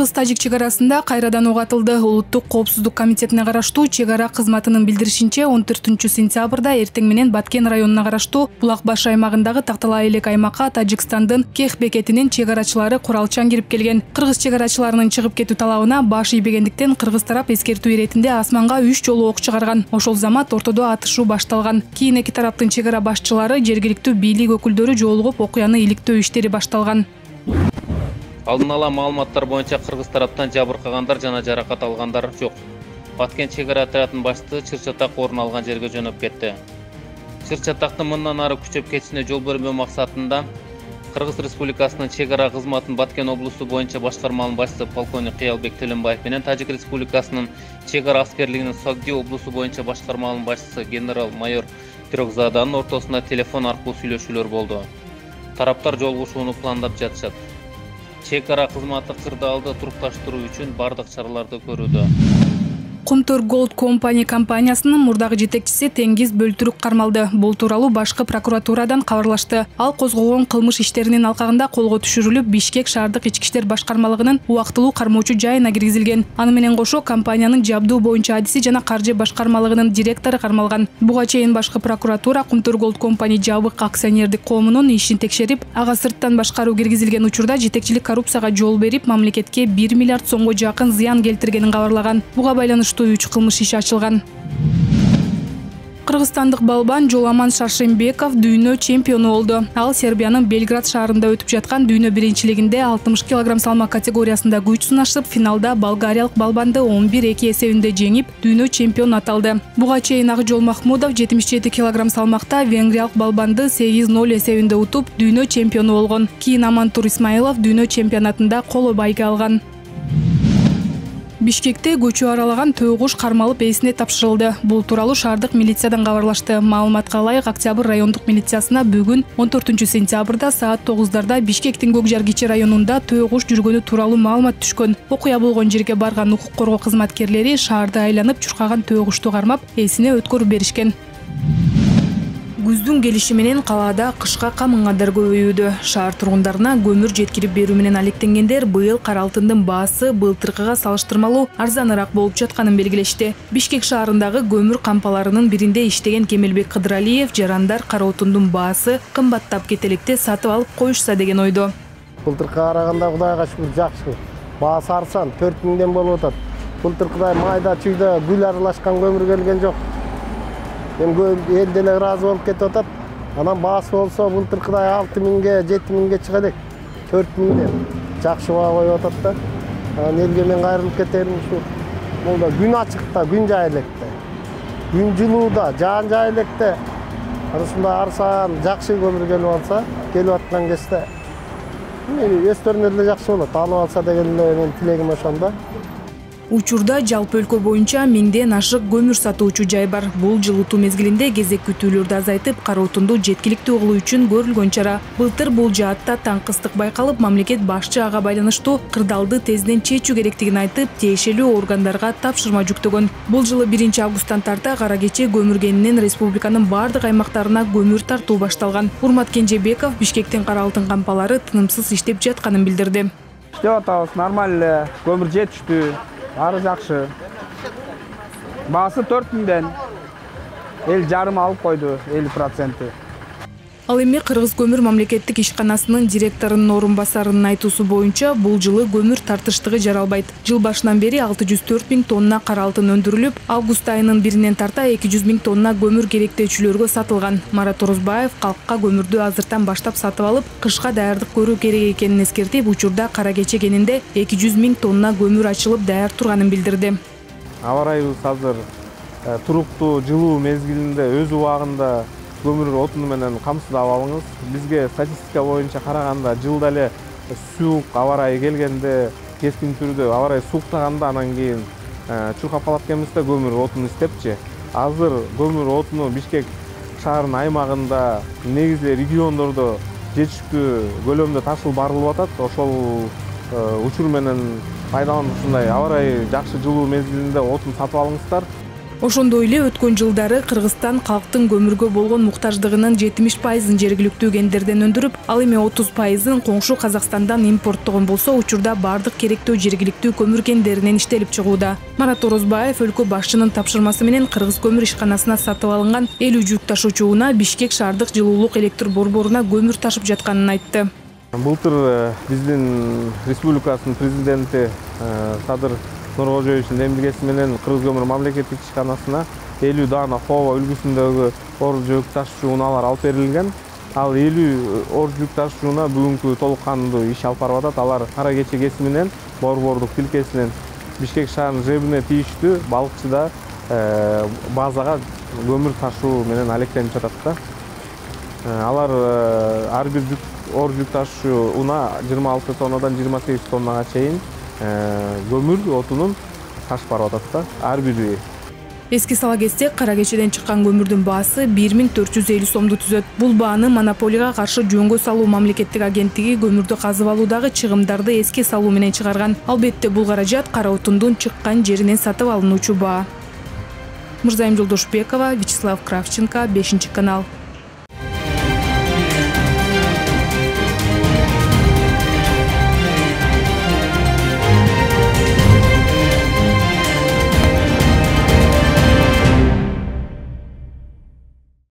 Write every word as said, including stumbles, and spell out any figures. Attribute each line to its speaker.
Speaker 1: Кыргыз-Тажик чек арасында кайрадан ок атылды. Улуттук коопсуздук комитетине караштуу чек ара кызматынын билдиришинче он төртүнчү сентябрда эртең менен Баткен районуна караштуу Булак баш аймагындагы Такталай элек аймакка Тажикстандын Кех бекетинин чек арачылары куралчан кирип келген. Кыргыз чек арачыларынын чыгып кетүү талабына баш ийбегендиктен кыргыз тарап эскертүү иретинде асманга үч жолу ок чыгарган. Ошол замат ортодо атышуу башталган. Кийин эки тараптын чек ара башчылары, жергиликтүү бийлик өкүлдөрү жолугуп окуяны иликтөө иштери башталган.
Speaker 2: Алдын ала маалыматтар боюнча кыргыз тараптан жабыркагандар жана жаракат алгандар жок. Баткен чек ара отрядынын башчысы Чыр-Чатак орун алган жерге жөнөп кетти. Чыр-Чатактын мындан ары күчөп кетишине жол бермөө максатында Кыргыз Республикасынын чек ара кызматынын Баткен облусу боюнча башкарманын башчысы полковник Кыялбек Төлөнбаев менен Тажик Республикасынын чек ара аскерлигинин Согди облусу боюнча башкарманын башчысы генерал-майор Трёкзаданын ортосунда телефон аркылуу сүйлөшүүлөр болду. Тараптар жолугушууну пландап жатышат. Чек ара кызматы кырдаалды турукташтыруу үчүн бардык чараларды көрүүдө.
Speaker 1: Кумтөр Gold Company компаниясынын мурдагы жетекчиси Теңгиз Бөлтүрүк кармалды. Бул тууралуу башкы прокуратурадан кабарлашты. Ал козголгон кылмыш иштеринин алкагында колго түшүрүлүп, Бишкек шаардык ички иштер башкармалыгынын убактылуу кармоочу жайына киргизилген. Аны менен кошо компаниянын жабдуу боюнча адиси жана каржы башкармалыгынын директору кармалган. Буга чейин башкы прокуратура Кумтөр Gold Company жабык акционердик коомунун ишин текшерип, ага сырттан башкаруу киргизилген учурда жетекчилик коррупцияга жол берип, мамлекетке бир миллиард сомго жакын зыян келтиргенин кабарлаган. Буга байланыштуу үч кылмыш иши ачылган. Кыргызстандык балбан Жоламан Шаршембеков дүйнө чемпиону болду. Ал Сербиянын Белград шаарында өтүп жаткан дүйнө биринчилигинде алтымыш килограмм салмак категориясында күч сынашып, финалда болгариялык балбанды он бир эки эсебинде жеңип, дүйнө чемпиону аталды. Буга чейин Акжол Махмудов жетимиш жети килограмм салмакта венгриялык балбанды сегиз ноль эсебинде утуп, дүйнө чемпиону болгон. Кийин Амантур Исмаилов дүйнө чемпионатында коло байге алган. Бишкекте көчүү аралаган төөкуш кармалып ээсине тапшырылды. Бул тууралуу шаардык милициядан кабарлашты. Маалыматка ылайык, Октябрь райондук милициясына бүгүн он төртүнчү сентябрда саат тогуздарда Бишкектин Көкжар кичи районунда төөкуш жүргөнү тууралуу маалымат түшкөн. Окуя болгон жерге барган укук коргоо кызматкерлери шаарды айланып чуркаган төөкушту кармап, ээсине өткөрүп беришкен. Күздүн келиши менен калаада кышка камынгандар көбөйүүдө. Шаар тургундарына көмүр жеткирип берүү менен алектенгендер быйыл кара алтындын баасы былтыркыга салыштырмалуу арзаныраак болуп жатканын белгилешти. Бишкек шаарындагы көмүр кампаларынын биринде иштеген Кемелбек Кыдыралиев жарандар кара отундун баасы кымбаттап кетелекте сатып алып коюшса деген ойдо.
Speaker 3: Былтыркыга караганда Кудайга шүгүр жакшы. Баасы арзан, төрт миңден болуп атат. Былтыркыдай майда чүйдө гүл аралашкан көмүр келген жок. Эл деле ыраазы болуп кетип атат. Анан баасы болсо былтыркыдай алты миңге, жети миңге чыга элек. төрт миңден жакшы баа коюп атат да. Анан элге мен кайрылып кетерим ушу. Бул күн ачыкта, күн жай электе. Күн жылууда, жаан жай электе. Ушундай арзан, жакшы көмүр келип алса, келип аткан кезде өстөрүнө деле жакшы болот. Алып алса деген эле менин тилегим ошондо.
Speaker 1: Учурда жалпы өлкө боюнча миңден ашык көмүр сатуучу жай бар. Бул жылытуу мезгилинде кезек күтүүлөрдү азайтып, кара отунду жеткиликтүү кылуу үчүн көрүлгөн чара. Былтыр бул жаатта таңкыстык байкалып, мамлекет башчы ага байланыштуу кырдаалды тезден чечүү керектигин айтып, тиешелүү органдарга тапшырма жүктөгөн. Бул жылы биринчи августтан тарта кара кече көмүргенинен республиканын бардык аймактарына көмүр тартуу башталган. Урмат Кенжебеков Бишкектин кара алтын кампалары тынымсыз иштеп жатканын билдирди.
Speaker 4: Иштеп атабыз, нормально, көмүр жетиштүү. Бары жакшы. Баасы төрт миңден эл жарым алып койду, элүү проценти.
Speaker 1: Ал эми Кыргыз көмүр мамлекеттик ишканасынын директорунун орун басарынын айтуусу боюнча бул жылы көмүр тартыштыгы жаралбайт. Жыл башынан бери алты жүз төрт миң тонна кара алтын өндүрүлүп, август айынын биринен тарта эки жүз миң тонна көмүр керектөөчүлөргө сатылган. Марат Орозбаев калкка көмүрдү азыртан баштап сатып алып, кышка даярдык көрүү керек экенин эскертип, учурда кара кече кенинде эки жүз миң тонна көмүр ачылып даяр турганын билдирди.
Speaker 4: Аба ырайыбыз азыр туруктуу жылуу мезгилинде өз убагында көмүр отуну менен камсыздап алыңыз. Бизге статистика боюнча караганда жылда эле суук аба ырайы келгенде, кескин түрдө аба ырайы сууктаганда анан кийин чуркап калат экенбиз да көмүр отун издепчи. Азыр көмүр отуну Бишкек шаарынын аймагында, негизи региондордо жетиштүү көлөмдө ташылып барылып атат. Ошол учур менен пайдаланып ушундай аба ырайы жакшы жылуу мезгилинде отун сатып алыңыздар.
Speaker 1: Ошондой эле өткөн жылдары Кыргызстан калктын көмүргө болгон муктаждыгынын жетимиш пайызын жергиликтүү кендерден өндүрүп, ал эми отуз пайызын коңшу Казакстандан импорттогон болсо, учурда бардык керектүү жергиликтүү көмүр кендеринен иштелип чыгууда. Марат Орозбаев өлкө башчынын тапшырмасы менен Кыргыз көмүр ишканасына сатып алынган элүү жүк ташуучу унаа Бишкек шаардык жылуулук электр борборуна көмүр ташып жатканын айтты.
Speaker 4: Былтыр биздин республикасынын президенти Садыр Нуркожоевичтин демилгеси менен Кыргыз көмүр мамлекеттик ишканасына элүү даана Хова үлгүсүндөгү ор жүк ташуучу унаалар алып берилген. Ал элүү ор жүк ташуучу унаа бүгүнкү толук кандуу иш алып барып атат. Алар кара кече кесиминен, борбордук тилкесинен Бишкек шаарынын жебине тийиштүү балыкчыда базага көмүр ташуу менен алектенип жатат да. Алар ар бир жүк ор жүк ташуучу унаа жыйырма алты тоннадан жыйырма сегиз тоннага чейин көмүр отунун ташып барып атат да, ар бири.
Speaker 1: Эске сала кетсек, кара кечеден чыккан көмүрдүн баасы бир миң төрт жүз элүү сомду түзөт. Бул бааны монополияга каршы жөнгө салуу мамлекеттик агенттиги көмүрдү казып алуудагы чыгымдарды эске салуу менен чыгарган. Албетте бул каражат кара отундун чыккан жеринен сатып алынуучу баа. Мырзайым Жолдошбекова, Вячеслав Кравченко, бешинчи канал.